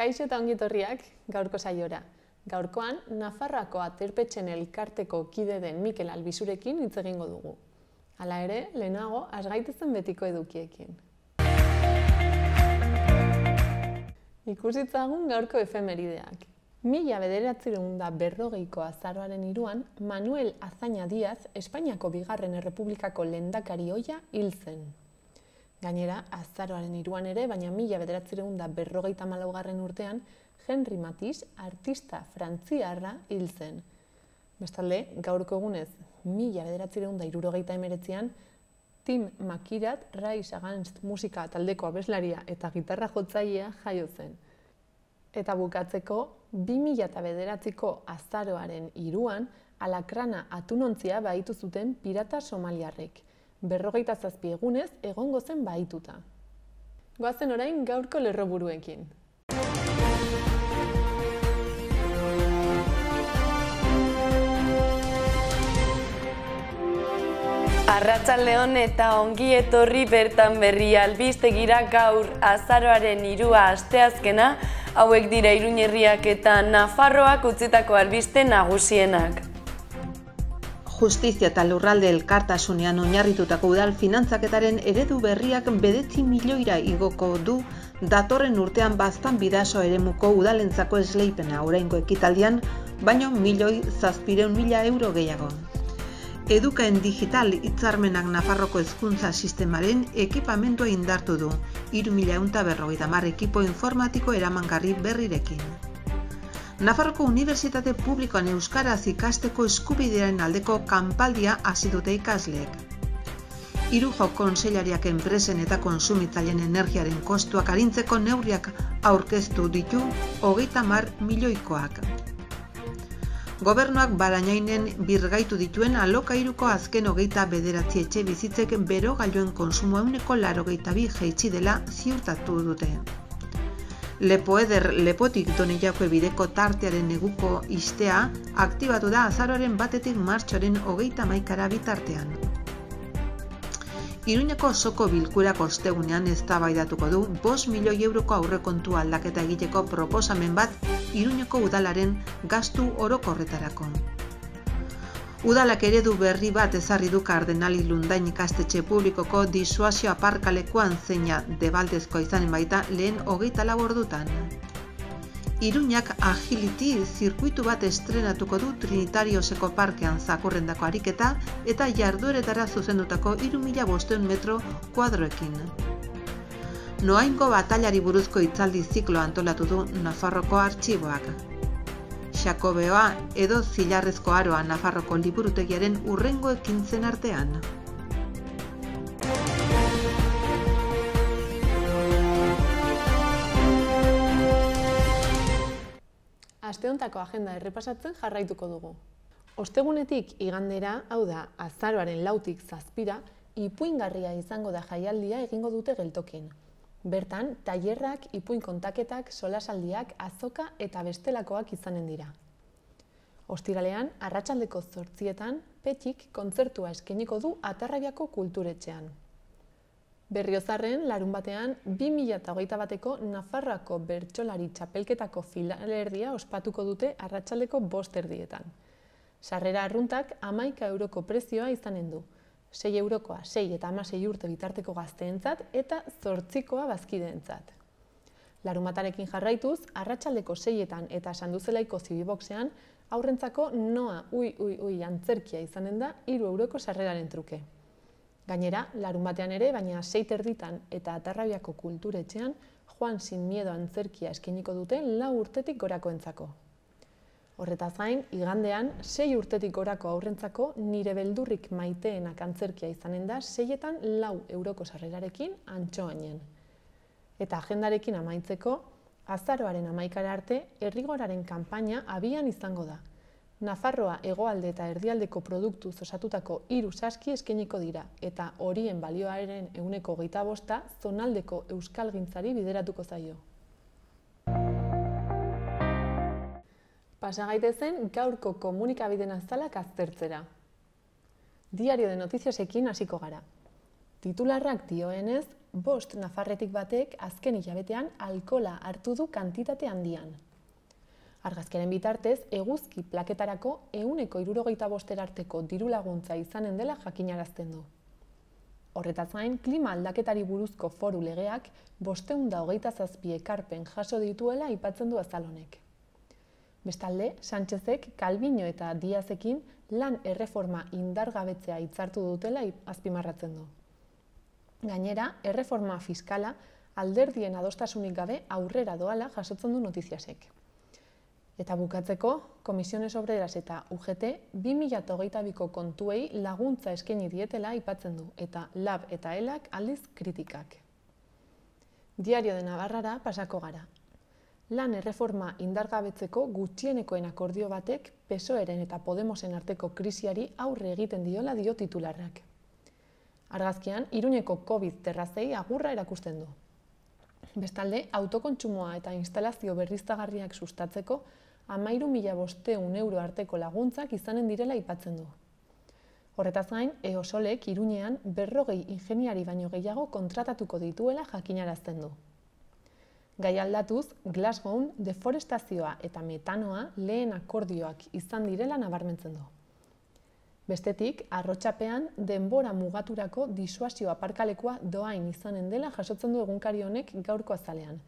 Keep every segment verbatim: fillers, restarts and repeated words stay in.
Kaixo eta ongi etorriak gaurko saiora. Gaurkoan, Nafarroako Aterpetxen elkarteko kide den Mikel Albizurekin hitz egingo dugu. Hala ere, lehenago, has gaitezen betiko edukiekin. Ikusitzagun gaurko efemerideak. Mila bederatziehun eta berrogeiko azaroaren hiruan, Manuel Azaña Díaz, Espainiako bigarren errepublikako lehendakari ohia hil zen. Gainera, azaroaren hiruan ere, baina mila bederatziehun eta berrogeita hamalaugarren urtean, Henri Matisse, artista frantziarra hil zen. Bestalde, gaurko egunez, mila bederatziehun eta hirurogeita hemeretzian, Tim Makirat, Rise Against musika taldeko abeslaria eta gitarra jotzailea jaio zen. Eta bukatzeko, bi mila bederatziko azaroaren hiruan, alakrana atunontzia bahitu zuten pirata somaliarrek. Berrogeita zazpi egunez egongo zen bahituta. Goazen orain gaurko lerroburuekin. Arratsaldeon eta ongi etorri bertan berri albistegira gaur azaroaren hirua asteazkena, hauek dira Iruña herriak eta Nafarroak utzitako albiste nagusienak. Justizia eta lurralde elkartasunean oinarritutako udal finantzaketaren eredu berriak bedetzi milioira igoko du datorren urtean baztan bidaso eremuko udalentzako esleipena oraingo ekitaldian, baino milioi zazpireun mila euro gehiago. Edukaen digital hitzarmenak Nafarroko hezkuntza sistemaren ekipamendua indartu du, hiru mila ehun eta berrogeita hamar ekipo informatiko eramangarri berrirekin. Nafarroko Unibertsitate Publikoan euskaraz ikasteko eskubidearen aldeko kanpaldia hasi dute ikasleek. Hirujo kontseilariak enpresen eta kontsumitzaileen energiaren kostuak arintzeko neurriak aurkeztu ditu hogeita hamar milioikoak. Gobernuak Barainainen birgaitu dituen alokairuko azken hogeita bederatzi etxe bizitzek berogailuen kontsumo ehuneko laurogeita bi jaitsi dela ziurtatu dute. Lepoeder Lepotik Doneiako bideko tartearen neguko istea aktibatu da azaroaren batetik martxoaren hogeita hamaikara bitartean. Iruñako osoko bilkurako ostegunean eztabaidatuko du bost milioi euroko aurrekontu aldaketa egiteko proposamen bat Iruñako udalaren gastu orokorretarako. Udalak eredu berri bat ezarri du Kardenali Lundain ikastetxe publikoko disuasio aparkalekuan zeina debaldezkoa izanen baita lehen hogeita lau ordutan. Iruñak Agility zirkuitu bat estrenatuko du Trinitarioseko parkean zakurrendako ariketa eta jardueretara zuzendutako hiru mila bostehun metro kuadroekin. Noaingo batailari buruzko hitzaldi ziklo antolatu du Nafarroko artxiboak. Xakobeoa edo Zilarrezko Aroa Nafarroko liburutegiaren hurrengo ekintzen artean. Asteontako agenda errepasatzen jarraituko dugu. Ostegunetik igandera, hau da, azaroaren lautik zazpira, ipuingarria izango da jaialdia egingo dute geltokin. Bertan, tailerrak, ipuin kontaketak, solasaldiak, azoka eta bestelakoak izanen dira. Ostiralean, arratsaldeko zortzietan, Petxik kontzertua eskainiko du Atarrabiako kulturetxean. Berriozarren, larunbatean, bi mila hogeita bateko Nafarroako bertsolari txapelketako finalerdia ospatuko dute arratsaldeko bost erdietan. Sarrera arruntak hamaika euroko prezioa izanen du. sei eurokoa, sei eta hamasei urte bitarteko gazteentzat eta zortzikoa bazkideentzat. Larunbatarekin jarraituz, arratsaldeko seietan eta Sanduzelaiko zibiboxean, aurrentzako noa ui ui ui antzerkia izanen da hiru euroko sarreraren truke. Gainera, larunbatean ere, baina sei terditan eta Atarrabiako kulturetxean, Juan sin miedo antzerkia eskainiko dute lau urtetik gorakoentzako. Horretaz gain, igandean, sei urtetik gorako aurrentzako nire beldurrik maiteenak antzerkia izanen da seietan lau euroko sarrerarekin Antxoainen. Eta agendarekin amaitzeko, azaroaren hamaikara arte, Errigoraren kanpaina abian izango da. Nafarroa hegoalde eta erdialdeko produktuz osatutako hiru saski eskainiko dira, eta horien balioaren ehuneko hogeita bosta zonaldeko euskalgintzari bideratuko zaio. Pasa gaitezen gaurko komunikabideen azalak aztertzera. Diario de Noticiasekin hasiko gara. Titularrak dioenez, bost nafarretik batek azken hilabetean alkohola hartu du kantitate handian. Argazkiaren bitartez, eguzki plaketarako ehuneko hirurogeita boster arteko diru laguntza izanen dela jakinarazten du. Horretaz gain, klima aldaketari buruzko foru legeak bostehun eta hogeita zazpi ekarpen jaso dituela aipatzen du azal honek. Bestalde, Sánchezek, Calviño eta Diazekin lan erreforma indargabetzea hitzartu dutela azpimarratzen du. Gainera, erreforma fiskala alderdien adostasunik gabe aurrera doala jasotzen du Notiziasek. Eta bukatzeko, Comisiones Obreras eta U G T bi mila hogeita biko kontuei laguntza eskaini dietela aipatzen du, eta Lab eta Elak aldiz kritikak. Diario de Navarrara pasako gara. Lan erreforma indargabetzeko gutxienekoen akordio batek P S O Eren eta Podemosen arteko krisiari aurre egiten diola dio titularrak. Argazkian, Iruñeko COVID terrazei agurra erakusten du. Bestalde, autokontsumoa eta instalazio berriztagarriak sustatzeko hamairu mila bostehun euro arteko laguntzak izanen direla aipatzen du. Horretaz gain, Eosolek Iruñean berrogei ingeniari baino gehiago kontratatuko dituela jakinarazten du. Gai aldatuz, Glasgown deforestazioa eta metanoa lehen akordioak izan direla nabarmentzen du. Bestetik, Arrotxapean denbora mugaturako disuasio aparkalekua doain izanen dela jasotzen du egunkari honek gaurko azalean.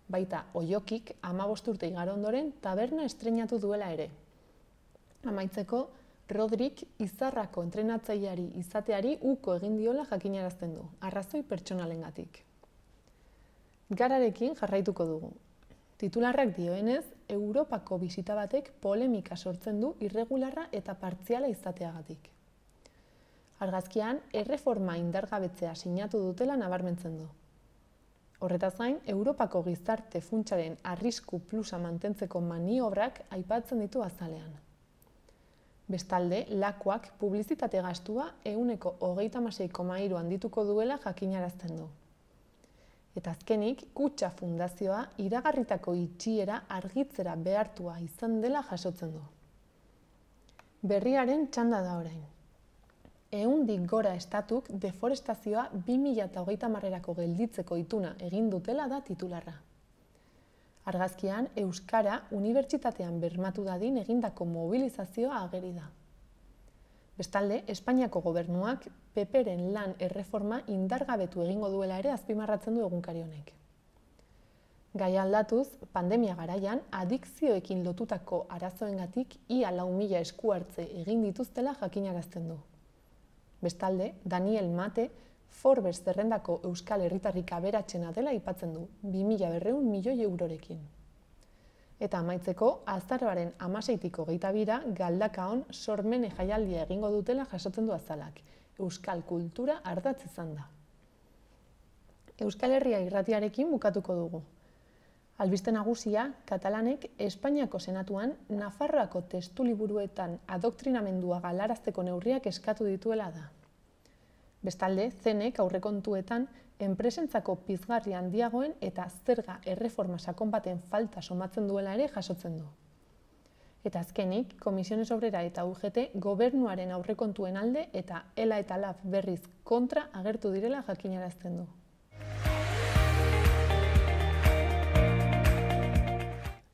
Baita, Oiokik hamabost urte igaro ondoren taberna estreinatu duela ere. Amaitzeko, Rodrik Izarrako entrenatzaileari izateari uko egin diola jakinarazten du, arrazoi pertsonalengatik. Gararekin jarraituko dugu. Titularrak dioenez, Europako bisita batek polemika sortzen du irregularra eta partziala izateagatik. Argazkian, erreforma indargabetzea sinatu dutela nabarmentzen du. Horretaz gain, Europako gizarte funtsaren arrisku plusa mantentzeko maniobrak aipatzen ditu azalean. Bestalde, Lakuak publizitate gastua ehuneko hogeita hamasei koma hiru handituko duela jakinarazten du. Eta azkenik, Kutxa Fundazioa iragarritako itxiera argitzera behartua izan dela jasotzen du. Berriaren txanda da orain. Ehundik gora estatuk deforestazioa bi mila hogeita hamarerako gelditzeko ituna egin dutela da titularra. Argazkian, Euskara unibertsitatean bermatu dadin egindako mobilizazioa ageri da. Bestalde, Espainiako gobernuak P Pren lan erreforma indargabetu egingo duela ere azpimarratzen du egunkari honek. Gai aldatuz, pandemia garaian, adikzioekin lotutako arazoengatik ia lau mila esku hartze egin dituztela jakinarazten du. Bestalde, Daniel Mate, Forbes zerrendako Euskal Herritarrik aberatsena dela aipatzen du, bi mila berrehun milioi eurorekin. Eta amaitzeko, azaroaren hamaseitiko hogeita bira Galdakaon sormene jaialdia egingo dutela jasotzen du azalak. Euskal kultura ardatz izan da. Euskal Herria irratiarekin bukatuko dugu. Albiste nagusia, Katalanek Espainiako Senatuan Nafarroako testuliburuetan adoktrinamendua galarazteko neurriak eskatu dituela da. Bestalde, Zenek aurrekontuetan enpresentzako pizgarri handiagoen eta zerga erreforma sakon baten falta somatzen duela ere jasotzen du. Eta azkenik, Comisiones Obrera eta U G T gobernuaren aurrekontuen alde eta Ela eta Lab berriz kontra agertu direla jakinarazten du.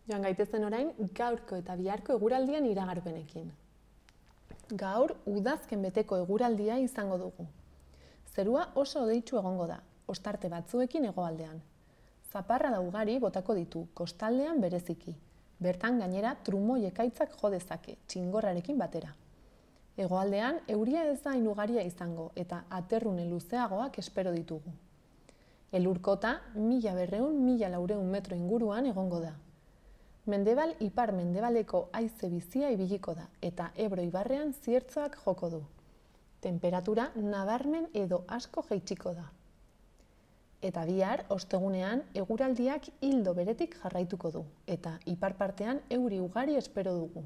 Joan gaitezen orain, gaurko eta biharko eguraldian iragarpenekin. Gaur, udazken beteko eguraldia izango dugu. Zerua oso hodeitsu egongo da, ostarte batzuekin hegoaldean. Zaparrada ugari botako ditu, kostaldean bereziki. Bertan gainera trumoi ekaitzak jo dezake, txingorrarekin batera. Hegoaldean euria ez da hain ugaria izango eta aterrune luzeagoak espero ditugu. Elurkota mila berrehun mila laurehun metro inguruan egongo da. Mendebal ipar mendebaleko haize bizia ibiliko da eta Ebro ibarrean ziertzoak joko du. Temperatura nabarmen edo asko jaitsiko da. Eta bihar, ostegunean, eguraldiak ildo beretik jarraituko du eta ipar partean euri ugari espero dugu.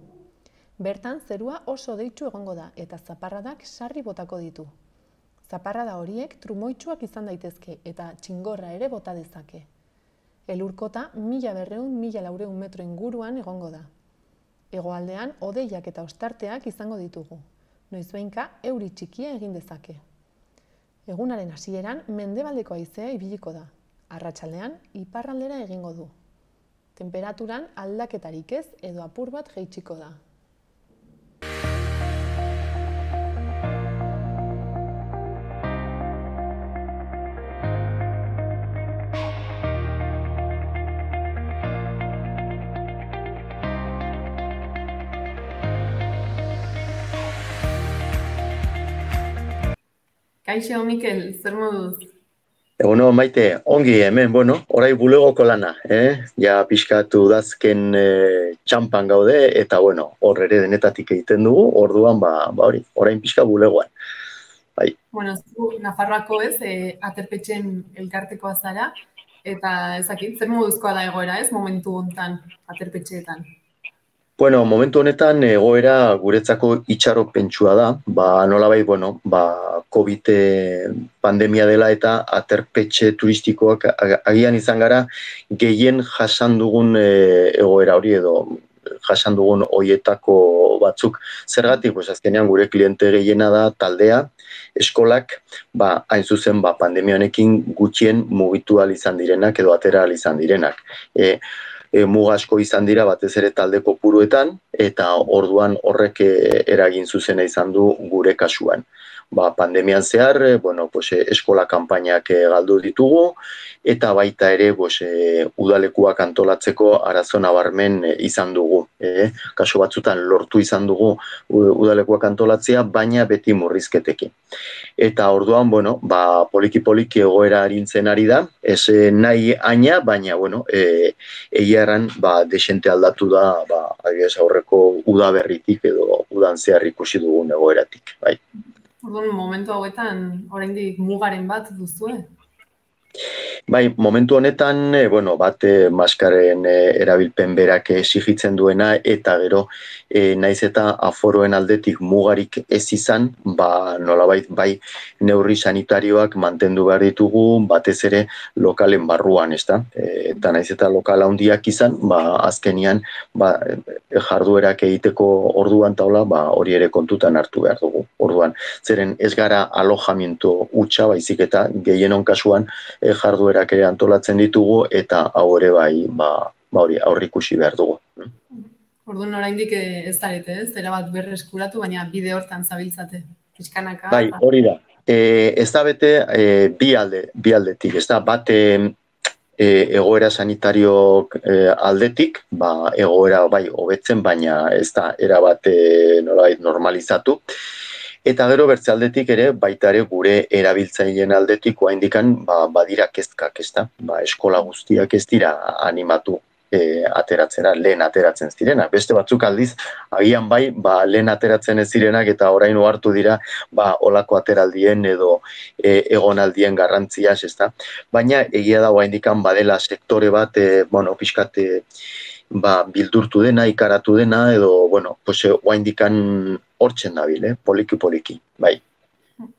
Bertan zerua oso hodeitsu egongo da eta zaparradak sarri botako ditu. Zaparrada horiek trumoitsuak izan daitezke eta txingorra ere bota dezake. Elurkota mila berrehun mila laurehun metro inguruan egongo da. Hegoaldean hodeiak eta ostarteak izango ditugu. Noizbehinka euri txikia egin dezake. Egunaren hasieran mendebaldeko haizea ibiliko da. Arratsaldean iparraldera egingo du. Tenperaturan aldaketarik ez edo apur bat jaitsiko da. Kaixo, Mikel, zer moduz? Bueno, Maite, ongi hemen, bueno, orai bulegoko lana, eh? Ja pixkatu dazken eh, txampan gaude, eta bueno, hor ere denetatik egiten dugu, orduan, ba, ba hori, orain pixka bulegoan. Bai. Bueno, zu Nafarroako ez, eh, aterpetxen elkartekoa zara, eta ezakit, zer moduzkoa da egoera ez, momentu hontan aterpetxeetan? Bueno, momentu honetan egoera guretzako itxaropentsua da, ba nolabait, bueno, ba COVID pandemia dela eta aterpetxe turistikoak agian izan gara gehien jasan dugun egoera hori edo jasan dugun hoietako batzuk. Zergatik, pues azkenean gure kliente gehiena da taldea, eskolak, ba hain zuzen ba pandemia honekin gutxien mugitu ahal izan direnak edo atera ahal izan direnak. E, E, muga asko izan dira batez ere talde kopuruetan eta orduan horrek eragin zuzena izan du gure kasuan. Ba, pandemian zehar, bueno, pues, eskola kanpainak galdu ditugu eta baita ere pues, udalekuak antolatzeko arazo nabarmen izan dugu. E, kasu batzutan lortu izan dugu udalekuak antolatzea, baina beti murrizketekin. Eta orduan, bueno, ba, poliki-poliki egoera arintzen ari da, ez nahi aina, baina, bueno, e, egia erran, ba, desente aldatu da, ba, aurreko udaberritik edo udan zehar ikusi dugun egoeratik, bai. Orduan, momentu hauetan, oraindik mugaren bat duzue? Bai, momentu honetan, e, bueno, bat e, maskaren e, erabilpen berak exigitzen duena eta gero e, naiz eta aforoen aldetik mugarik ez izan, ba nolabait bai neurri sanitarioak mantendu behar ditugu batez ere lokalen barruan, ezta? E, eta naiz eta lokal handiak izan, ba azkenian ba jarduerak egiteko orduan taula, ba hori ere kontutan hartu behar dugu. Orduan, zeren ez gara alojamiento hutsa, baizik eta gehienon kasuan e, jarduerak ere antolatzen ditugu eta hau ere bai, ba, ba hori aurrikusi behar dugu. Orduan oraindik ez zarete, ez? Zera bat berreskuratu, baina bide hortan zabiltzate. Pixkanaka. Bai, hori da. E, ez da bete e, bi alde, bi aldetik, ez da bat e, egoera sanitario e, aldetik, ba egoera bai hobetzen, baina ez da erabat e, nolabait normalizatu. Eta gero bertze aldetik ere, baita ere gure erabiltzaileen aldetik oraindikan ba, badira kezkak, ezta? Ba, eskola guztiak ez dira animatu e, ateratzera, lehen ateratzen zirenak. Beste batzuk aldiz, agian bai, ba, lehen ateratzen ez zirenak eta orain ohartu dira ba, olako ateraldien edo e, egonaldien garrantziaz, ezta? Baina egia da oraindikan badela sektore bat, e, bueno, pixkat e, ba, bildurtu dena, ikaratu dena, edo, bueno, pues, oraindikan hortzen dabil, eh? poliki-poliki, bai.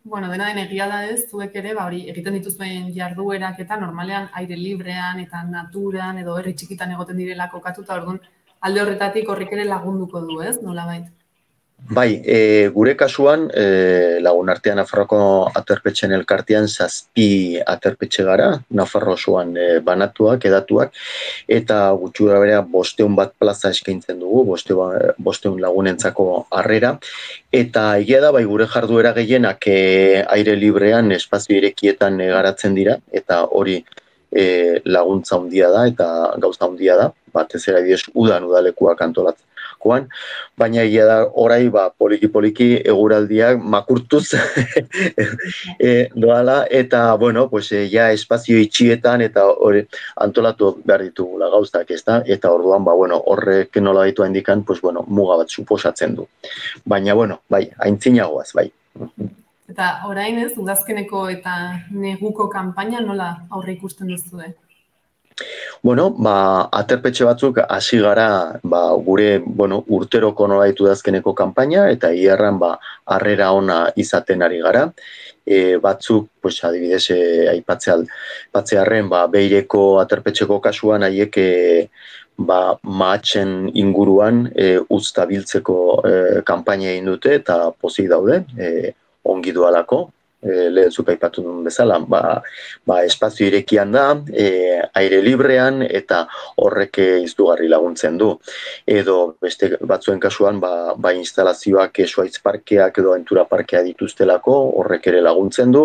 Bueno, dena den egia da ez, zuek ere, ba, hori, egiten dituzuen jarduerak eta normalean aire librean eta naturan edo herri txikitan egoten direla kokatuta, orduan alde horretatik horrik ere lagunduko du, ez, nolabait? Bai, e, gure kasuan, e, lagun artean Nafarroko aterpetxen elkartean zazpi aterpetxe gara, Nafarro osoan e, banatuak, edatuak, eta gutxura berea bosteun bat plaza eskaintzen dugu, bosteun, bosteun lagunentzako harrera, eta egia da, bai gure jarduera gehienak e, aire librean, espazio irekietan e, garatzen dira, eta hori e, laguntza handia da, eta gauza handia da, batez ere adibidez udan udalekuak antolatzen. Baina egia da orai ba, poliki-poliki eguraldiak makurtuz e, doala eta bueno, pues, e, ja espazio itxietan eta hori antolatu behar ditugula gauztak, ezta? Eta orduan ba, bueno, horrek nola ditu indikan, pues, bueno, muga bat suposatzen du. Baina bueno, bai, aintzinagoaz, bai. Eta orain ez, udazkeneko eta neguko kanpaina nola aurre ikusten duzu, eh? Bueno, ba, aterpetxe batzuk hasi gara ba, gure bueno, urteroko nola ditu dazkeneko kanpaina eta iarran ba, harrera ona izaten ari gara. E, batzuk, pues, adibidez, e, aipatzearren ba, Beireko aterpetxeko kasuan haiek e, ba, mahatzen inguruan e, uzta biltzeko e, kanpaina egin dute eta pozik daude, e, ongi dualako. e, lehen zuk aipatu duen bezala, ba, ba, espazio irekian da, e, aire librean, eta horrek izugarri laguntzen du. Edo beste batzuen kasuan, ba, ba instalazioak zuhaitz parkeak edo aventura parkea dituztelako, horrek ere laguntzen du.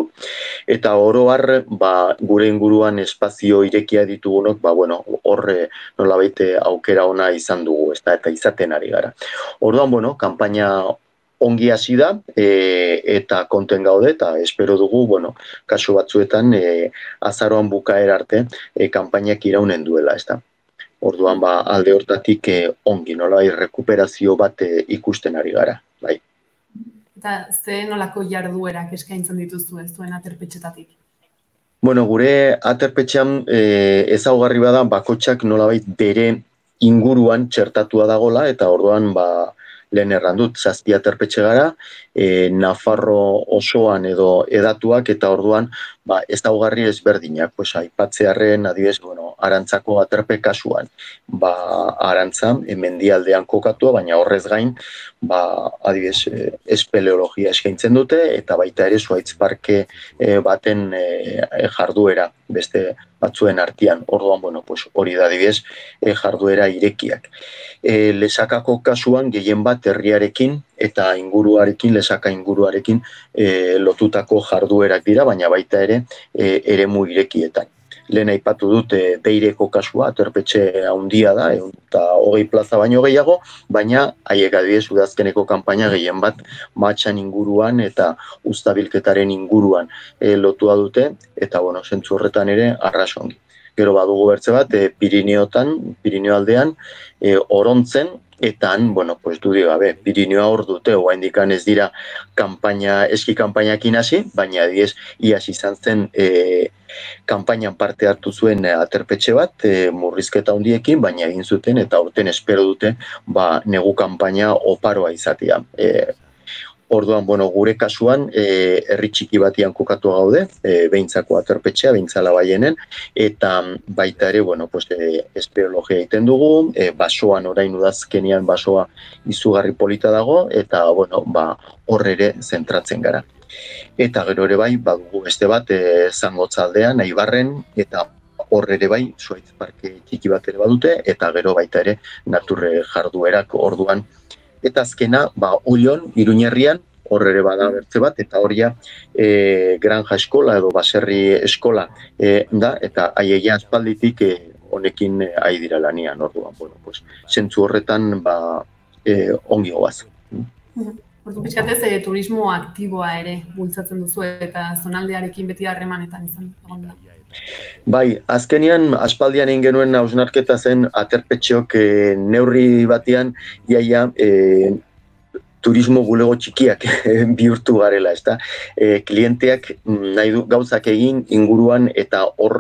Eta oro har, ba, gure inguruan espazio irekia ditugunok, ba, bueno, horre nolabait aukera ona izan dugu, ez da, eta izaten ari gara. Orduan, bueno, kanpaina ongi hasi da, e, eta konten gaude, eta espero dugu, bueno, kasu batzuetan, e, azaroan bukaera arte, e, kanpainak iraunen duela, ez da. Orduan, ba, alde hortatik e, ongi, nolabait rekuperazio bat e, ikusten ari gara, bai. Eta ze nolako jarduerak eskaintzen dituzu ez duen aterpetxetatik? Bueno, gure aterpetxean e, ezaugarri bada bakotxak nolabait bere inguruan txertatua dagola, eta orduan ba, lehen errandut, zazpi aterpetxe gara, e, Nafarro osoan edo edatuak, eta orduan ba, ezaugarri ezberdinak, pues, aipatzearren adibidez, bueno, Arantzako aterpe kasuan, ba, Arantza, mendialdean kokatua, baina horrez gain, ba, adibidez, espeleologia eskaintzen dute, eta baita ere zuhaitz parke e, baten e, jarduera, beste batzuen artean, orduan, bueno, pues, hori da adibidez, e, jarduera irekiak. E, lesakako kasuan, gehien bat herriarekin, eta inguruarekin, lesaka inguruarekin e, lotutako jarduerak dira, baina baita ere, e, eremu irekietan. Lehen aipatu dut e, Beireko kasua, aterpetxe handia da, ehun eta hogei plaza baino gehiago, baina haiek adibidez udazkeneko kanpaina gehien bat Matxan inguruan eta uztabilketaren inguruan e, lotua dute, eta bueno, zentzu horretan ere arrasongi. Gero badugu bertze bat, e, Pirineotan, Pirineo aldean, e, Orontzen, eta han, bueno, pues du gabe, Pirineoa hor dute, oraindikan ez dira kanpaina, eski kanpainakin hasi, baina adibidez iaz izan zen e, kanpainan parte hartu zuen aterpetxe bat, e, murrizketa handiekin, baina egin zuten eta aurten espero dute ba, negu kanpaina oparoa izatea. E, Orduan, bueno, gure kasuan, e, herri txiki batian kokatu gaude, e, Behintzako aterpetxea, Behintzala baienen, eta baita ere, bueno, pues, e, espeleologia egiten dugu, e, basoan orain udazkenean basoa izugarri polita dago, eta, bueno, ba, hor ere zentratzen gara. Eta gero ere bai, badugu beste bat, e, Zangotzaldean, Aibarren, eta hor ere bai, zuhaitz parke txiki bat ere badute, eta gero baita ere, naturre jarduerak orduan. Eta azkena, ba, Ollon, Iruñerrian, hor ere bada bertze bat, eta horia e, granja eskola edo baserri eskola e, da, eta haieia aspalditik e, honekin e, ari dira lanian, orduan, bueno, pues, zentzu horretan ba, e, ongi goaz. Ordu pixkatez, e, turismo aktiboa ere bultzatzen duzu eta zonaldearekin beti harremanetan izan egon da. Bai, azkenean aspaldian egin genuen hausnarketa zen aterpetxeok e, neurri batean iaia e, turismo bulego txikiak bihurtu garela, ezta? E, klienteak nahi du gauzak egin inguruan eta hor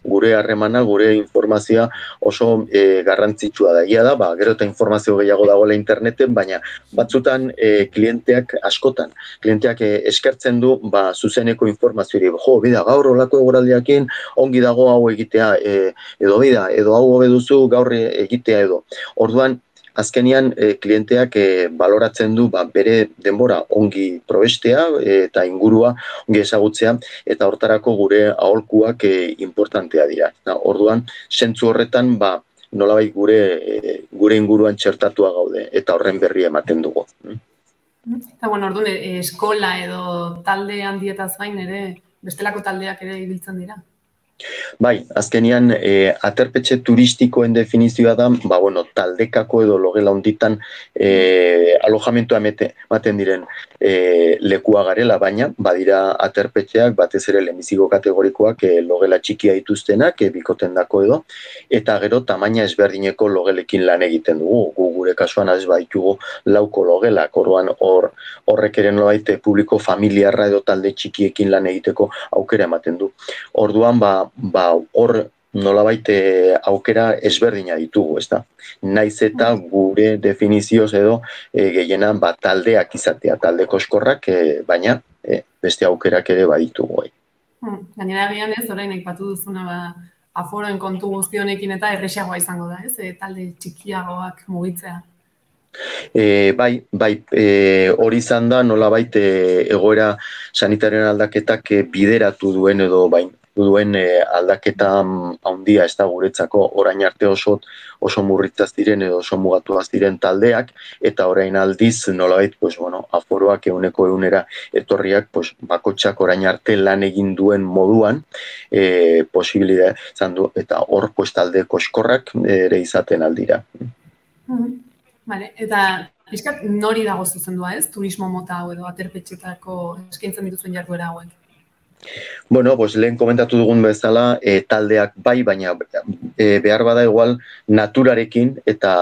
gure harremana, gure informazioa oso e, garrantzitsua da. Ia da, ba, gero eta informazio gehiago dagoela interneten, baina batzutan e, klienteak askotan, klienteak e, eskertzen du ba, zuzeneko informazioari. Jo, bida, gaur olako egoraldiakin ongi dago hau egitea, e, edo bida, edo hau hobe duzu gaur egitea edo. Orduan, azkenian e, klienteak e, baloratzen du ba, bere denbora ongi probestea e, eta ingurua ongi ezagutzea, eta hortarako gure aholkuak e, importantea dira. Na, orduan, zentzu horretan ba, nolabait gure, e, gure inguruan txertatua gaude eta horren berri ematen dugu. Eta bueno, orduan, e, eskola edo talde handietaz gain ere, bestelako taldeak ere ibiltzen dira. Bai, azkenian e, aterpetxe turistikoen definizioa da, ba, bueno, taldekako edo logela honditan e, alojamentua ematen diren e, lekua garela, baina badira aterpetxeak batez ere lehenbiziko kategorikoak e, logela txikia dituztenak, e, bikoten dako edo, eta gero tamaina ezberdineko logelekin lan egiten dugu. Gu gure kasuan ez baditugu lauko logelak, orduan hor horrek ere nolabait publiko familiarra edo talde txikiekin lan egiteko aukera ematen du. Orduan, ba, ba hor nolabait aukera ezberdina ditugu, ezta? Naiz eta gure definizioz edo e, gehienan ba, taldeak izatea, talde koskorrak, e, baina e, beste aukerak ere baditugu. Hmm. Gainera egian ez, orain aipatu duzuna ba, aforoen kontu guzti honekin eta erresagoa izango da, ez? E, talde txikiagoak mugitzea. E, bai, bai, e, hori izan da nolabait e, egoera sanitarioen aldaketak e, bideratu duen edo bain duen e, aldaketa handia ez da guretzako orain arte oso oso murritzaz diren edo oso mugatuaz diren taldeak eta orain aldiz nolabait pues bueno, aforoak ehuneko ehunera etorriak pues bakotxak orain arte lan egin duen moduan e, posibilidad izan du eta hor pues talde koskorrak ere izaten aldira. Mm-hmm. Vale, eta pixkat nori dago zuzendua ez, turismo mota hau edo aterpetxetako eskaintzen dituzuen jarduera hauek? Bueno, pues lehen komentatu dugun bezala, e, taldeak bai, baina e, behar bada igual naturarekin eta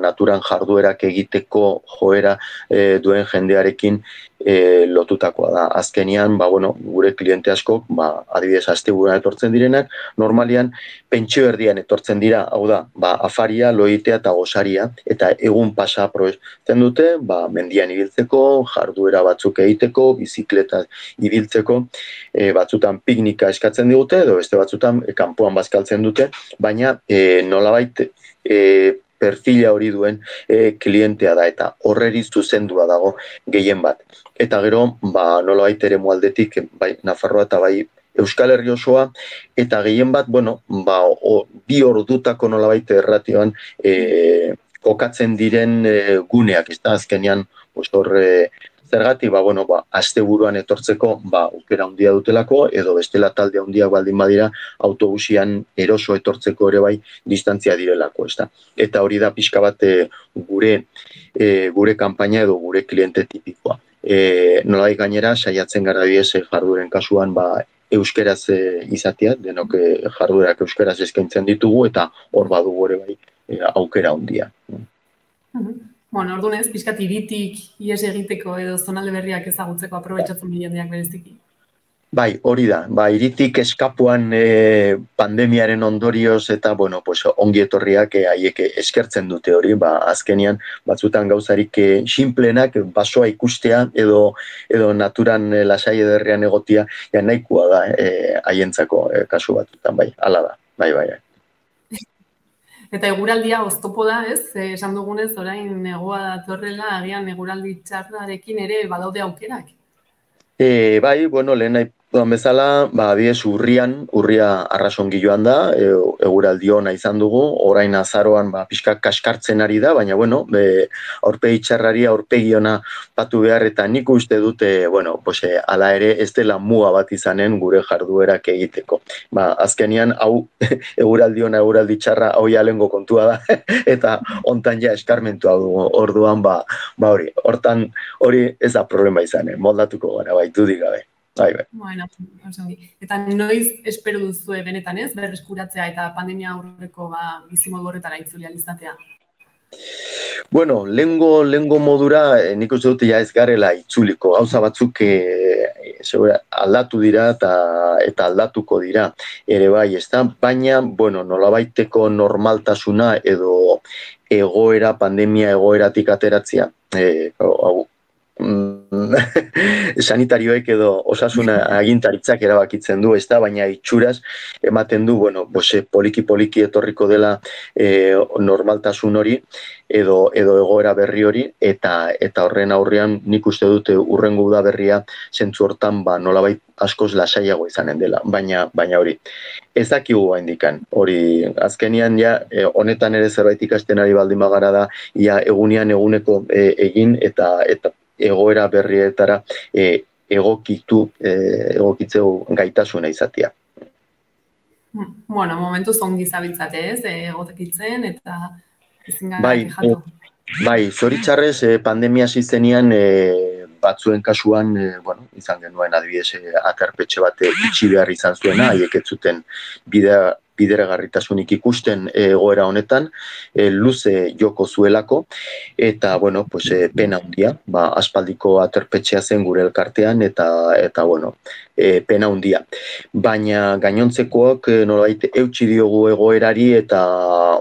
naturan jarduerak egiteko joera e, duen jendearekin e, lotutakoa da. Azkenian, ba, bueno, gure kliente askok, ba, adibidez asteburuan etortzen direnak, normalian pentsio erdian etortzen dira, hau da, ba, afaria, loitea eta gosaria, eta egun pasa aprobetzen dute, ba, mendian ibiltzeko, jarduera batzuk egiteko, bizikleta ibiltzeko, e, batzutan piknika eskatzen digute, edo beste batzutan e, kanpoan bazkaltzen dute, baina e, nolabait e, perfila hori duen e, klientea da, eta horreri zuzendua dago gehien bat. Eta gero, ba, nolabait ere mualdetik, bai, Nafarroa eta bai Euskal Herri osoa, eta gehien bat, bueno, ba, o, bi ordutako nolabait erratioan e, kokatzen diren e, guneak, ez da, azkenean, hor, e, zergatik, ba, bueno, ba, asteburuan etortzeko, ba, aukera handia dutelako, edo bestela talde handiak baldin badira, autobusian eroso etortzeko ere bai, distantzia direlako, ez da. Eta hori da pixka bat e, gure, e, gure kanpaina edo gure kliente tipikoa. E, nolai gainera, saiatzen gara bidez jardueren kasuan, ba, euskeraz e, izatea, denok e, jarduerak euskeraz eskaintzen ditugu, eta hor badugu ere bai e, aukera handia. Mm-hmm. Bueno, orduan ez, pixkat iritik ies egiteko edo zonalde berriak ezagutzeko aprobetxatzen jendeak bereziki. Bai, hori da. Ba, iritik eskapuan e, pandemiaren ondorioz eta, bueno, pues, ongi etorriak e, haiek eskertzen dute hori, ba, azkenian batzutan gauzarik e, sinplenak basoa ikustea edo edo naturan e, lasai ederrean egotia, ja nahikoa da haientzako e, kasu batzutan, bai, hala da, bai, bai, bai. Eta eguraldia oztopo da, ez? E, esan dugunez, orain negoa datorrela, agian eguraldi txarrarekin ere badaude aukerak. E, bai, bueno, lehen nahi duan bezala, ba, adiez, urrian, urria arrasongi joan da, e, eguraldi ona izan dugu, orain azaroan, ba, pixka kaskartzen ari da, baina, bueno, be, aurpegi txarrari, aurpegi ona patu behar, eta nik uste dute, bueno, pues, e, ala ere, ez dela muga bat izanen gure jarduerak egiteko. Ba, azkenian, hau, eguraldi ona, eguraldi txarra, hau jalengo kontua da, eta hontan ja eskarmentua dugu, orduan, ba, ba hori, hortan, hori ez da problema izanen, moldatuko gara, bai, dudik gabe. Bai, bai. Bueno, eta noiz espero duzue benetan ez, berreskuratzea eta pandemia aurreko ba, bizimodu horretara itzuli alizatea? Bueno, lengo, lengo modura eh, nik uste dute ja ez garela itzuliko. Gauza batzuk eh, segura, aldatu dira eta, eta aldatuko dira ere bai, ez da? Baina, bueno, nolabaiteko normaltasuna edo egoera, pandemia egoeratik ateratzea, eh, hau, sanitarioek edo osasuna agintaritzak erabakitzen du, ez da, baina itxuraz ematen du, bueno, bose, poliki-poliki etorriko dela e, normaltasun hori edo edo egoera berri hori, eta eta horren aurrean nik uste dute urrengo uda berria zentzu hortan ba nolabait askoz lasaiago izanen dela, baina baina hori ez dakigu gaindikan. Hori azkenian ja e, honetan ere zerbait ikasten ari baldin bagara da ia egunean eguneko e, egin eta eta egoera berrietara e, egokitu, e, egokitzeu gaitasuna izatea. Bueno, momentu zongi zabiltzate ez, egotekitzen eta ezin gara bai, kexatu. E, bai, zoritxarrez e, pandemia ziztenian e, batzuen kasuan, e, bueno, izan genuen adibidez e, aterpetxe bat itxi behar izan zuena, haiek ez zuten bidea bideragarritasunik ikusten egoera honetan, e, luze joko zuelako, eta, bueno, pues, e, pena handia, ba, aspaldiko aterpetxea zen gure elkartean, eta, eta bueno, e, pena handia. Baina gainontzekoak e, nolabait eutsi diogu egoerari, eta,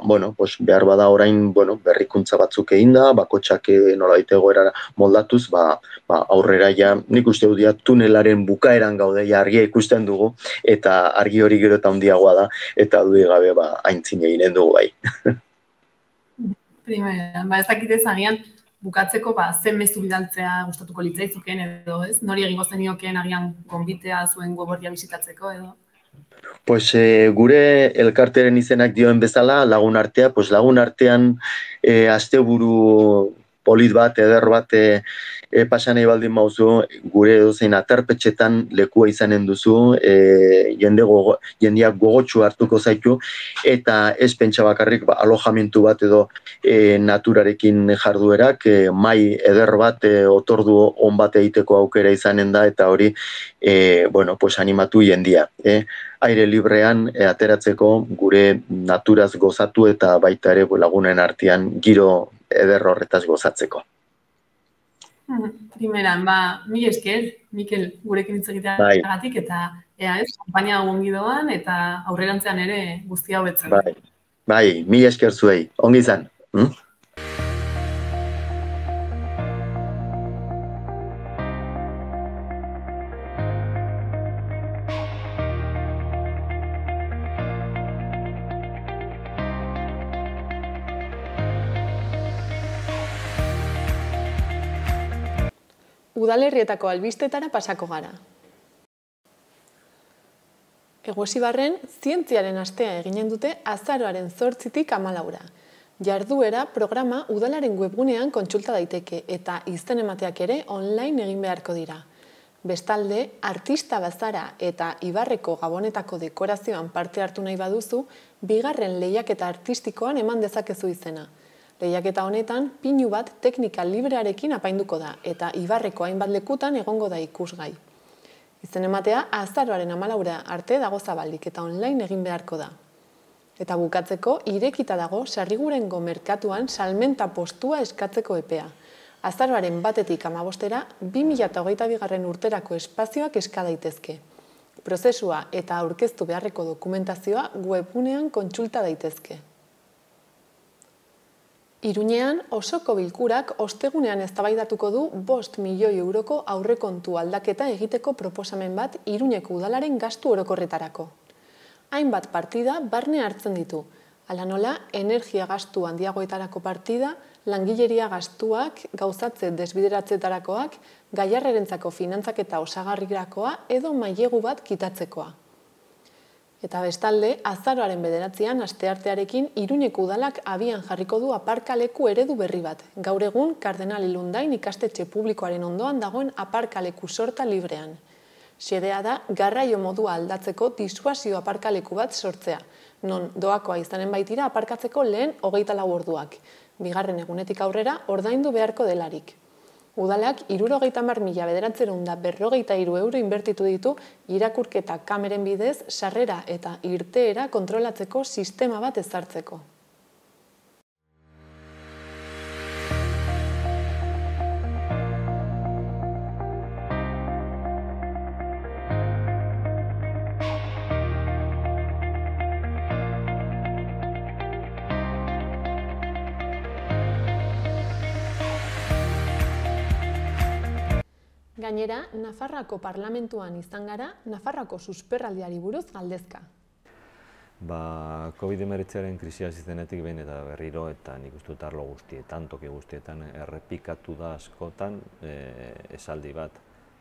bueno, pues, behar bada orain, bueno, berrikuntza batzuk egin da, bakotxak e, nolabait egoerara moldatuz, ba, ba, aurrera ja, nik uste dut ja, tunelaren bukaeran gaude, ja, argia ikusten dugu, eta argi hori gero eta handiagoa da, eta dudik gabe ba, aintzin eginen dugu bai. primeran, ba ez dakite agian bukatzeko ba ze mezu bidaltzea gustatuko litzaizukeen edo, ez? Nori egingo zeniokeen agian gonbitea zuen web orria bisitatzeko edo. Pues eh, gure elkarteren izenak dioen bezala, lagun artea, pues lagun artean eh, asteburu polit bat, eder bat e, e, pasan nahi baldin mauzu, gure edozein aterpetxetan lekua izanen duzu, e, jende gogo, jendeak gogotsu hartuko zaitu, eta ez pentsa bakarrik ba, alojamentu bat edo e, naturarekin jarduerak, e, mai eder bat, e, otordu on bat egiteko aukera izanen da, eta hori, e, bueno, pues animatu jendia. E, aire librean e, ateratzeko gure naturaz gozatu eta baita ere lagunen artean giro eder horretaz gozatzeko. Primeran, ba, mila esker, Mikel, gurekin hitz egiteagatik eta ea ez, konpainia ongi doan eta aurrerantzean ere guztia hobetzen. Bai, bai, mila esker zuei, ongi izan. Hm? Udalerrietako albistetara pasako gara. Egosibarren, zientziaren astea eginen dute azaroaren zortzitik hamalaura. Jarduera programa udalaren webgunean kontsulta daiteke eta izen emateak ere online egin beharko dira. Bestalde, artista bazara eta Ibarreko Gabonetako dekorazioan parte hartu nahi baduzu, bigarren lehiaketa artistikoan eman dezakezu izena. Lehiaketa honetan, pinu bat teknika librearekin apainduko da, eta Ibarreko hainbat lekutan egongo da ikusgai. Izen ematea, azaroaren hamalaura arte dago zabalik eta online egin beharko da. Eta bukatzeko, irekita dago Sarrigurengo merkatuan salmenta postua eskatzeko epea. Azaroaren batetik hamabostera, bi mila hogeita bigarren urterako espazioak eska daitezke. Prozesua eta aurkeztu beharreko dokumentazioa webgunean kontsulta daitezke. Iruñean, osoko bilkurak ostegunean eztabaidatuko du bost milioi euroko aurrekontu aldaketa egiteko proposamen bat Iruñeko udalaren gastu orokorretarako. Hainbat partida barne hartzen ditu, hala nola energia gastu handiagoetarako partida, langileria gastuak, gauzatze desbideratzetarakoak, gaiarrerentzako finantzaketa osagarrirakoa edo mailegu bat kitatzekoa. Eta bestalde, azaroaren bederatzean asteartearekin Iruñeko udalak abian jarriko du aparkaleku eredu berri bat. Gaur egun, Kardenal Ilundain ikastetxe publikoaren ondoan dagoen aparkaleku sorta librean. Xedea da, garraio modua aldatzeko disuasio aparkaleku bat sortzea, non doakoa izanen baitira aparkatzeko lehen hogeita lau orduak. Bigarren egunetik aurrera, ordaindu beharko delarik. Udalak hirurogeita hamar mila bederatziehun eta berrogeita hiru euro inbertitu ditu irakurketa kameren bidez sarrera eta irteera kontrolatzeko sistema bat ezartzeko. Gainera, Nafarroako parlamentuan izan gara, Nafarroako susperraldiari buruz galdezka. Ba, covid hemeretziaren krisia hasi zenetik behin eta berriro eta nik uste dut arlo guztietan, toki guztietan errepikatu da askotan e, esaldi bat.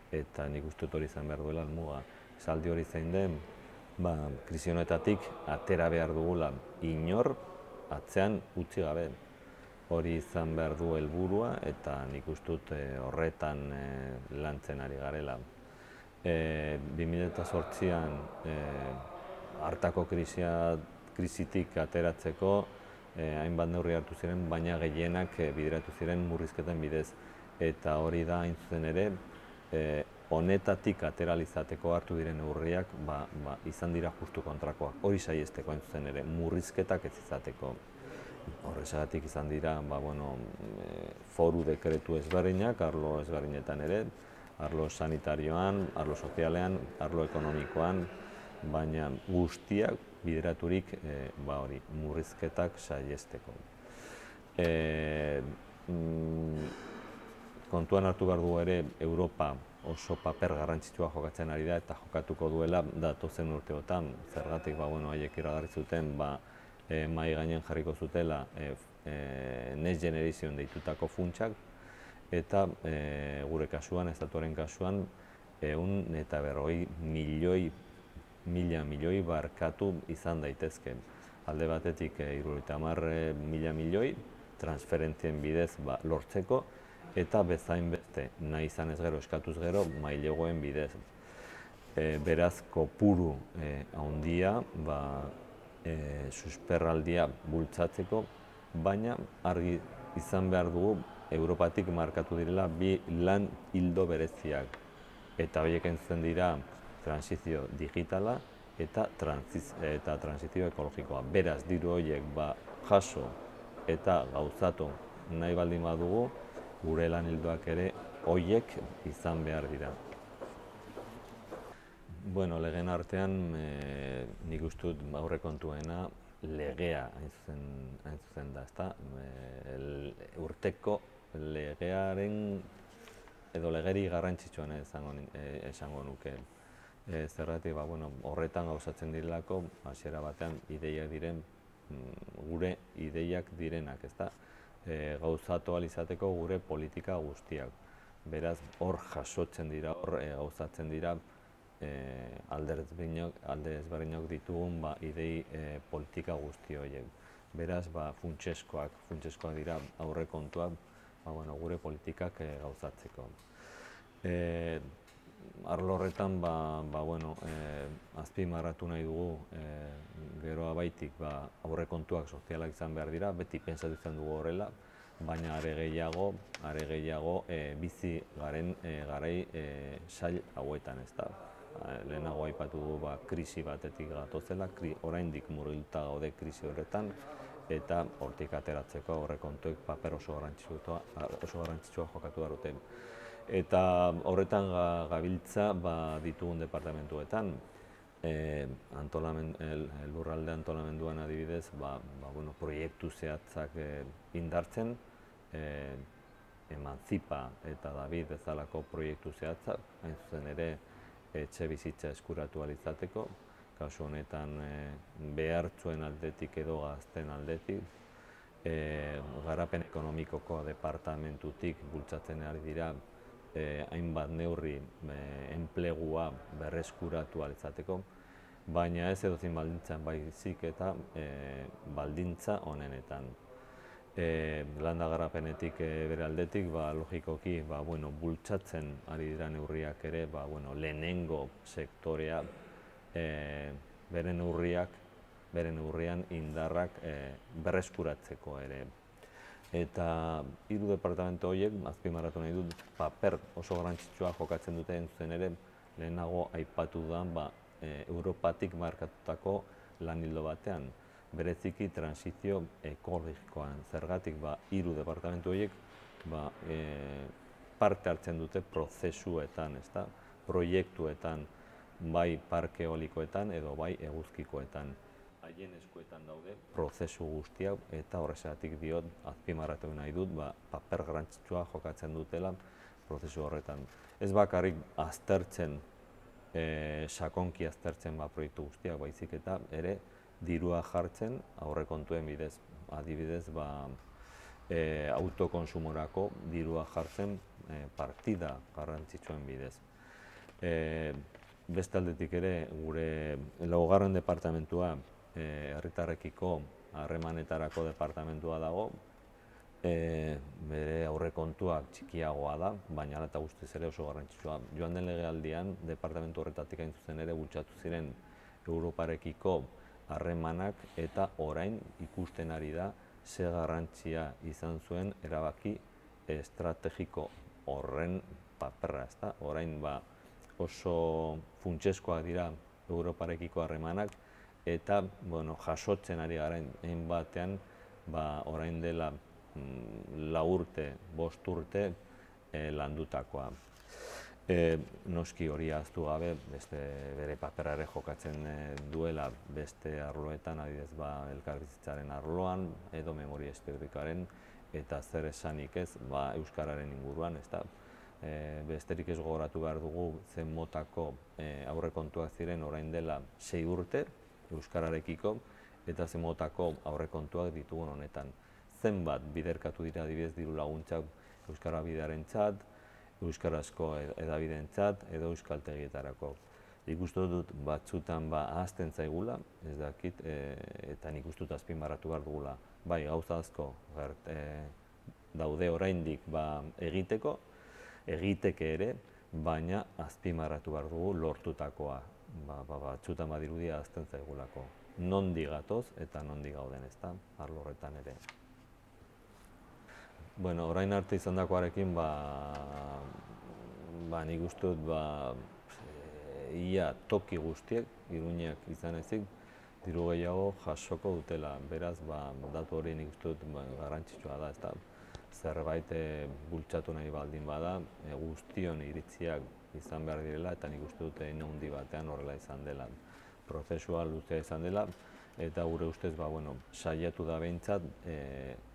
Eta nik uste dut hori izan behar duela helmuga. Esaldi hori zein den, ba, krisi honetatik atera behar dugula inor atzean utzi gabe. Hori izan behar du helburua eta nik uste dut horretan e, lantzen ari garela. E, bi mila zortzian e, hartako krisia, krisitik ateratzeko e, hainbat neurri hartu ziren, baina gehienak e, bideratu ziren murrizketen bidez. Eta hori da hain zuzen ere, e, honetatik ateralizateko hartu diren neurriak ba, ba, izan dira justu kontrakoak. Hori saiesteko hain zuzen ere, murrizketak ez izateko. Horrezagatik izan dira ba, bueno, e, foru dekretu ezberdinak, arlo ezberdinetan ere, arlo sanitarioan, arlo sozialean, arlo ekonomikoan, baina guztiak bideraturik e, ba, hori, murrizketak saiesteko. E, mm, kontuan hartu behar du ere, Europa oso paper garrantzitsua jokatzen ari da eta jokatuko duela datozen urteotan. Zergatik, ba, bueno, haiek iragarri zuten, ba, E, mai gainen jarriko zutela e, Next Generation deitutako funtsak, eta gure kasuan, estatuaren kasuan, ehun eta berrogei milioi, mila milioi barkatu izan daitezke. Alde batetik hirurogeita hamar mila milioi transferentzien bidez lortzeko, eta bezain beste nahi izan ez gero, eskatuz gero, mailegoen bidez. Beraz, kopuru handia, susperraldia bultzatzeko, baina argi izan behar dugu Europatik markatu direla bi lan hildo bereziak. Eta horiek entzuten dira transizio digitala eta transizio ekologikoa. Beraz, diru horiek jaso eta gauzatu nahi baldin badugu, gure lan hildoak ere horiek izan behar dira. Bueno, legeen artean, nik uste dut aurrekontuena legea hain zuzen da, ezta? Urteko legearen edo legeri garrantzitsuena esango nuke. Zergatik, horretan gauzatzen direlako, hasiera batean ideiak diren, gure ideiak direnak, ezta? Gauzatu ahal izateko gure politika guztiak. Beraz, hor jasotzen dira, hor gauzatzen dira alde ezberdinok ditugun idei politika guzti horiek. Beraz, funtseskoak, funtseskoak dira aurrekontuak gure politikak gauzatzeko. Arlo horretan, azpimarratu nahi dugu, gero abaitik aurrekontuak sozialak izan behar dira, beti pentsatu izan dugu horrela, baina are gehiago, are gehiago bizi garen garai sail hauetan, ez da. Lehenago aipatu dugu krisi batetik gatozela, oraindik murgilduta gaude krisi horretan, eta hortik ateratzeko aurrekontuek paper oso garrantzitsua jokatu behar dute. Eta horretan gabiltza ditugun departamentuetan, lurralde antolamenduan adibidez, proiektu zehatzak indartzen, Emantzipa eta David bezalako proiektu zehatzak, hain zuzen ere etxe bizitza eskuratu ahal izateko, kasu honetan behartzuen aldetik edo gazten aldetik, garapen ekonomikoko departamentutik bultzatzen ari dira hainbat neurri enplegua berreskuratu ahal izateko, baina ez edozein baldintzan baizik eta baldintza honenetan. Landa garapenetik bere aldetik, logikoki bultzatzen ari dira neurriak ere lehenengo sektorea bere neurriak, bere neurrian indarrak berreskuratzeko ere. Eta hiru departamentu horiek, azpimarratu nahi dut, paper oso garrantzitsua jokatzen dute entzuten ere, lehenago aipatu da Europatik markatutako lan ildo batean. Bereziki transizio ekologikoan. Zergatik, hiru departamentu horiek parte hartzen dute prozesuetan, proiektuetan, bai parke eolikoetan edo bai eguzkikoetan. Haien eskuetan daude prozesu guztiak eta horrexegatik diot, azpimarratu nahi dut, paper garrantzitsua jokatzen dutela prozesu horretan. Ez bakarrik aztertzen, sakonki aztertzen proiektu guztiak baizik eta ere dirua jartzen aurrekontuen bidez. Adibidez, autokonsumorako dirua jartzen partida garrantzitsuen bidez. Beste aldetik ere, gure laugarren departamentua herritarrekiko harremanetarako departamentua dago, bere aurrekontuak txikiagoa da, baina hala eta guztiz ere oso garrantzitsua. Joan den legealdian, departamentu horretatik hain zuzen ere bultzatu ziren Europarekiko harremanak eta orain ikusten ari da ze garrantzia izan zuen erabaki estrategiko horren paperra, ezta? Orain oso funtseskoak dira Europarekiko harremanak eta jasotzen ari garen egin batean orain dela lau urte, bost urte landutakoa. Noski hori ahaztu gabe, bere paperra ere jokatzen duela beste arloetan, adibidez elkarbizitzaren arloan edo memoria historikoaren eta zer esanik ez euskararen inguruan, ezta? Besterik ez gogoratu behar dugu zen motako aurrekontuak ziren orain dela sei urte euskararekiko eta zen motako aurrekontuak ditugun honetan. zenbat biderkatu dira adibidez diru laguntzak euskara bidearentzat, euskarazko edabideentzat edo euskaltegietarako. Nik uste dut batzutan ba ahazten zaigula, ez dakit, eta nik uste dut azpimarratu behar dugula. Bai, gauza asko daude oraindik ba egiteko, egiteke ere, baina azpimarratu behar dugu lortutakoa. Batzutan badirudia ahazten zaigulako. Nondi gatoz eta nondi gauden, ez da, arlo horretan ere. Bueno, orain arte izan dakoarekin, nik uste dut, ia toki guztiek, Iruñek izan ezik, diru gehiago jasoko dutela. Beraz, datu hori nik uste dut garrantzitsua da, ez da. Zerbait bultzatu nahi baldin bada, guztion iritziak izan behar direla, eta nik uste dut egin handi batean horrela izan dela. Prozesua luzea izan dela, eta gure ustez, saiatu da behintzat,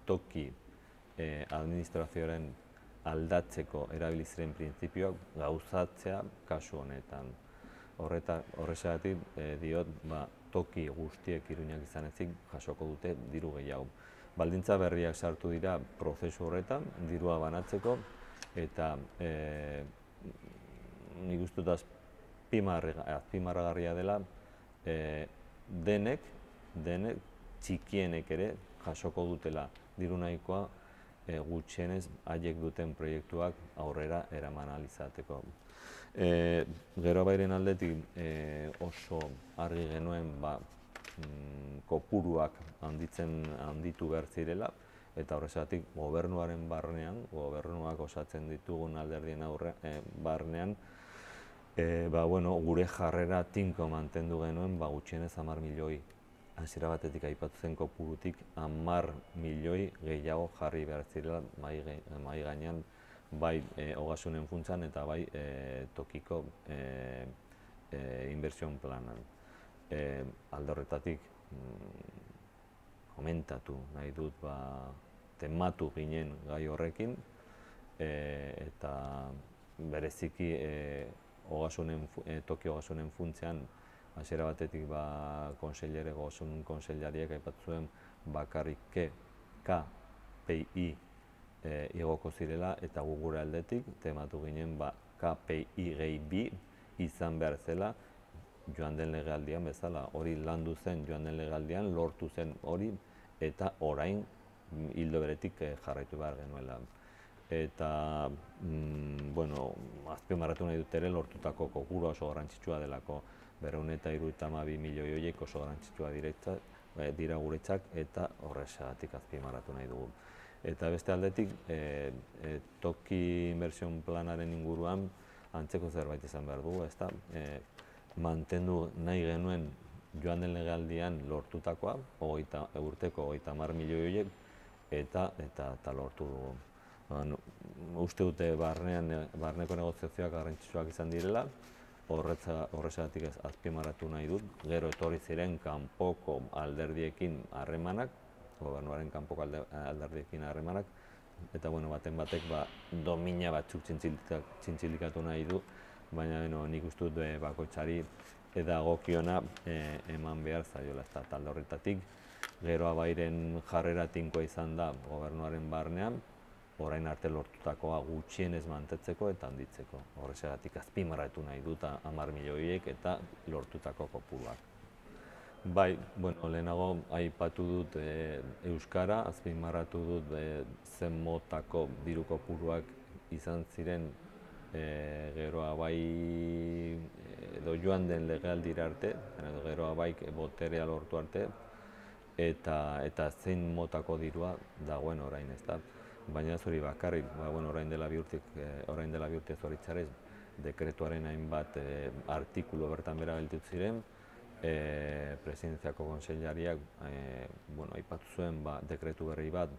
toki administrazioaren aldatzeko erabiliziren printzipioak gauzatzea kasu honetan. Horrexegatik diot, toki guztiek Iruñak izan ezik jasoko dute diru gehiago. Baldintza berriak sartu dira prozesu horretan, dirua banatzeko, eta nik uste dut azpimarragarria dela denek, denek, txikienek ere jasoko dutela diru nahikoa gutxienez haiek duten proiektuak aurrera eraman ahal izateko. Gero bairen aldetik oso argi genuen kopuruak handitu behar zirela, eta horrexegatik gobernuaren barnean, gobernuak osatzen ditugun alderdien barnean, gure jarrera tinko mantendu genuen gutxienez hamar milioi. Hasiera batetik aipatu zen kopurutik hamar milioi gehiago jarri behar zirela mahai gainean, bai ogasunen funtsan eta bai tokiko inbertsioen planan. Alde horretatik komentatu nahi dut, tematu ginen gai horrekin, eta bereziki toki ogasunen funtsean hasiera batetik konseilere ogasun konseilariak aipatu zuen bakarrik K P I igoko zirela, eta gu gure aldetik tematu ginen K P I gehi bi izan behar zela joan den legealdian bezala. Hori landu zen joan den legealdian, lortu zen hori, eta orain hildo beretik jarraitu behar genuela. Eta, bueno, azpimarratu nahi dut ere lortutako kopurua oso garrantzitsua delako. Berrehun eta hirurogeita hamabi milioi horiek oso garrantzitsua dira guretzat, eta horrexegatik azpimarratu nahi dugu. Eta beste aldetik, toki inbertsioen planaren inguruan antzeko zerbait izan behar dugu, ezta? Mantendu nahi genuen joan den legealdian lortutakoa, urteko hogeita hamar milioi horiek, eta lortu dugu. Uste dute barneko negoziazioak garrantzitsuak izan direla, horrexegatik azpimarratu nahi dut, gero etorri ziren kanpoko alderdiekin harremanak, gobernuaren kanpoko alderdiekin harremanak, eta baten batek domina batzuk txintzilikatu nahi du, baina nik uste dut bakoitzari edagokiona eman behar zaiola, ez da talde horretatik. Gero abairen jarrera tinkoa izan da gobernuaren barnean, orain arte lortutakoa gutxienez mantetzeko eta handitzeko. Horrexegatik azpimarratu nahi dut hamar milioiek eta lortutako kopuruak. Bai, lehenago aipatu dut euskara, azpimarratu dut zen motako diru kopuruak izan ziren geroa bai edo joan den legealdira arte, geroa bai boterea lortu arte, eta zein motako dirua dagoen orain, ez da. Baina ez hori bakarrik, orain dela bi urte zoritzarez, dekretuaren hainbat artikulu bertan bera gelditu ziren, presidentziako konseilariak aipatu zuen dekretu berri bat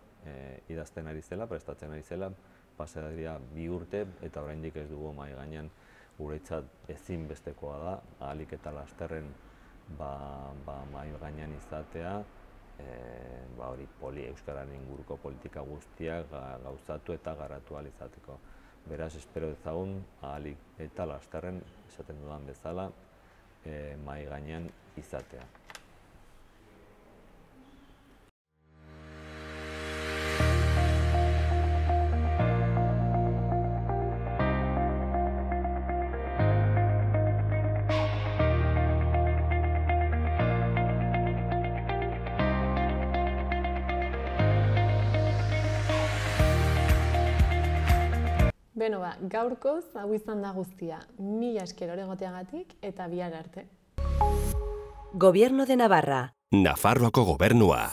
idazten ari zela, prestatzen ari zela, pasa dira bi urte eta oraindik ez dugu mahai gainean guretzat ezinbestekoa da, ahalik eta lasterren mahai gainean izatea, hori poli euskararen inguruko politika guztiak gauzatu eta garatu ahal izateko. Beraz, espero dezagun ahalik eta lasterren, esaten dudan bezala, mahai gainean izatea. Beno ba, gaurkoz hau izan da guztia. Mila esker hor egoteagatik eta bihar arte. Gobierno de Navarra. Nafarroako gobernua.